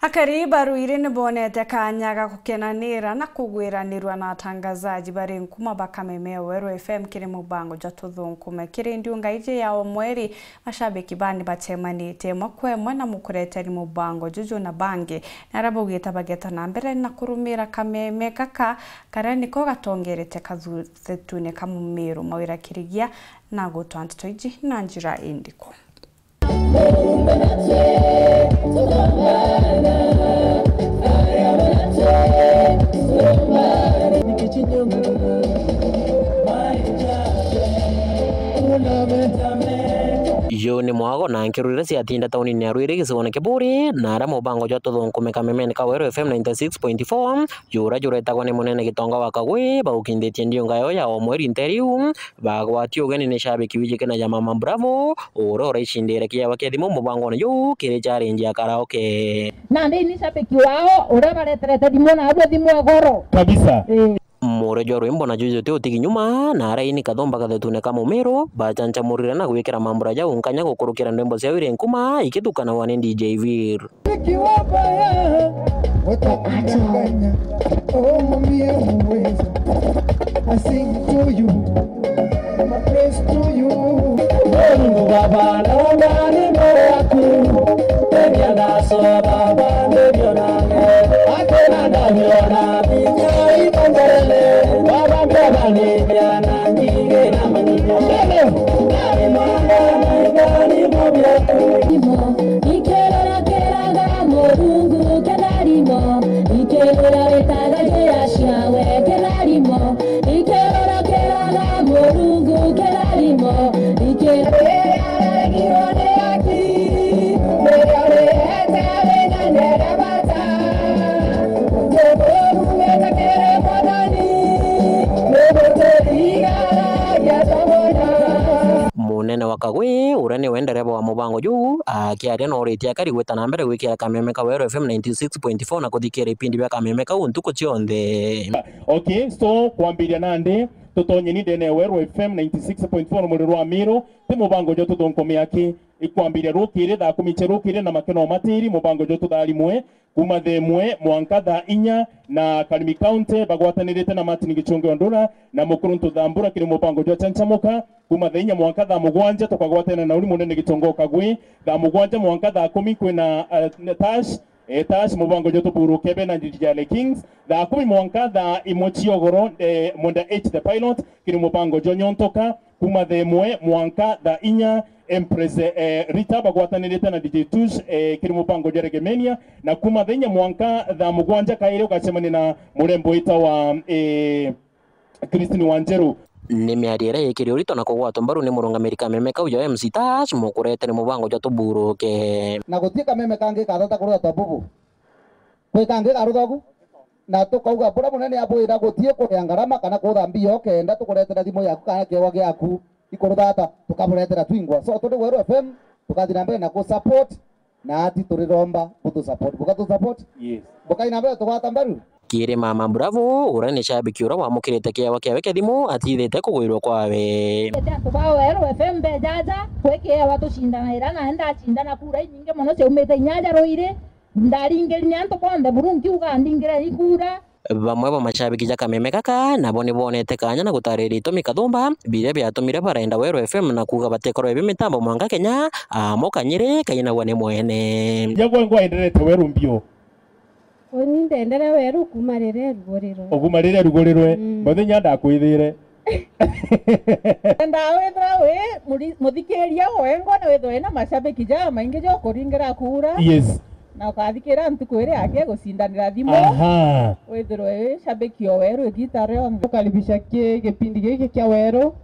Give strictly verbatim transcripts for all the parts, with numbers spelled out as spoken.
Akari ba Ruiri ni bonete kanya ga gukenanira na kugwiranirua na atangazaji bari nkuma ba Kameme ya Weru F M kiri mubango jwa Tuthunkume. Kiri ndiunga iji ya o mweri, mashabiki bani bacemanitie imwe kwa imwe na mukureteri mubango juju na bangi, na aria baugite bageta na mbere na kurumira kameme gaka karia niko gatongerete kathuthitune ka Mumiru. Mawira Kirigia na gutwa nteto iji na njira indiku. Yu ni mwago na nkeru iria ciatinda taunini ya Ruiri gicigoone kia Buuri, na aria mubango jwa Tuthunkume kamemene ka Weru F M ninety six point four, jura juretagwa ni munene Gitonga wa Kagwi, baukinditie ndiunga yao ya o mweri nteriu, bagwatie ugeni ni shabiki wijikene ja Mama Bravo, uria uraicindire kiewa kia thimu mubangone juu kiri challenge ya karaoke. Nandi ni shabiki wao uria bareterete thimu na abwe thimu ya goro. Kabisa. Eh. Mure jwa rwimbo na juju ti utigi nyuma, na aria ini kathumba kathetune ka Mumiru, bachanchamurire na gwikira mambura jau nkanya gukurukira ndwimbo ciao iri nkuma ikithukanagwa ni D J Vir. Nikiwa baya, watakudanganya. Oh, mwambie uweza. I sing to you. I praise to you. Mungu Baba, naomba niombe yaku. Tembea naso Baba, ndivyo nane. Hakuna ndavyo na vinya iko mbele. Baba, mbele ni jana, ngire na manino. Mbele. Ikirora kiraga Murungu kitharimo, ikirora witaga njira ciawe kitharimo, ikirora kiraga Murungu kitharimo, ikirora Munene wa Kagwi, uria niwe ndereba wa mubango juu, akiaria na uritie akari gwita na mbere gwikira kameme ka Weru F M ninety six point four na kuthikira ipindi bia kameme kau ntuku cionthe. Okay, so kwambiria nandi, tutonyeni ndene ya Weru F M ninety six point four Rumuri rwa Miru, ti mubango jwa Tuthunkume aki. Ikwambiria rukiri thaa kumi cia rukiri na makeno matiri, mubango jwa Tutharimwe, kuma thaa imwe mwanka thaa inya, na Karimi County bagwatanirite na Martin Gichunge Ondura na Mukuruntu Thambura kiri mubango jwa Chanchamuka, kuma thaa inya mwanka thaa mugwanja tukagwatana na uni munene Gitonga Kagwi, thaa mugwanja mwanka thaa kumi kwina, eh, Tash, eh, Tash mubango jwa Tuburuke be na Njijale Kings, thaa kumi mwanka thaa imwe ciogoro, eh, Mwenda H the Pilot kiri mubango jwa Nyontoka, kuma thaa imwe mwanka thaa inya, Empress, eh, Rita bagwatanirite na D J Tush, eh, kiri mubango jwa Regemenia, na kuma thaa inya mwanka thaa mugwanja kairi ugacemania na murembo witawa, eh, Christine Wanjeru. Ni miario iria ikiri urito na kugwatwa mbaru ni murungamiri kameme kau ja M C Tash, mukurete ni mubango jwa Tuburuke. Na guti kameme kangi kathata kurutwa bubu. Kwi kangi karuthogu, na tukauga buria munene abwira guti kuria ngarama kana kuthambia ukenda tukuretera thimu yaku kana kiewa giaku ikuruthata, tukaburetera twingwa. So turi Weru F M, tukathi na mbere na ku support, na ati turiromba butu support. Bukatu support? Yes. Bukai na mbere tugwata mbaru? Kiri Mama Bravo, uria ni shabiki uria wamukirite kiewa kiawe kia thimu atithite kugwirwa kwawe. Ete antu ba Weru F M bejaja, kwi kiewa tucindanaira, na ndacindana kura inyingi mono ciaumite inya aja Ruiri. Ndaringiri ni antu bonthe buru nkiuga ndingire ikura. Bamwe ba mashabiki ja kameme gaka nabo ni bonete kanya na gutariria itumi kathumba biria biatumire barenda Weru F M na kuuga batikorwe bi mitambo mwanka Kenya, amo kanyiri kainagwa ni mwene. Jagwe ngwaenderete Weru mbio. Uni ndendere Weru kuma riria rugurirwe. Oguma riria rugurirwe. Mm. Muthenya ndakwithire. Ndaa withira wi muri-, muthikiria wengwa na withirwe na mashabiki ja maingi ja ukuringira kura. Yes. Na ukathikira ntuku iria yake gucindanira thimu. Aha. Withirwe wi shabiki o Weru igita rionthe. Tukaribisha ki-, gipindi giki kia Weru,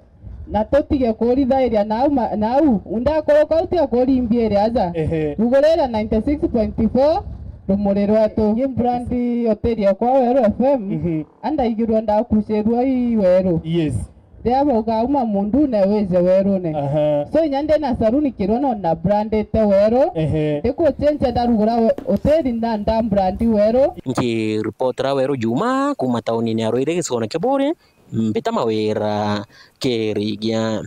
na tutige kurithairia nau ma-, nau. Ndakuruka utige kurimbiria aja. Ehe. Rugurira ninety six point four Rumuri rwetu. Ni brand hoteli yakwa Weru F M. Mhm. Andaigirwe ndakucirua i Weru. Yes. Riria bauga uma mundune wije werune. Aha. So inya ndina saruni kirwa no na brandite Weru. Ehe. Ndikucenjia ndarugura we-, hoteli na nda brandi Weru. Nkiripotera Weru Juma kuma taunini ya Ruiri gicigone kia Buuri, mbita Mawira Kirigia.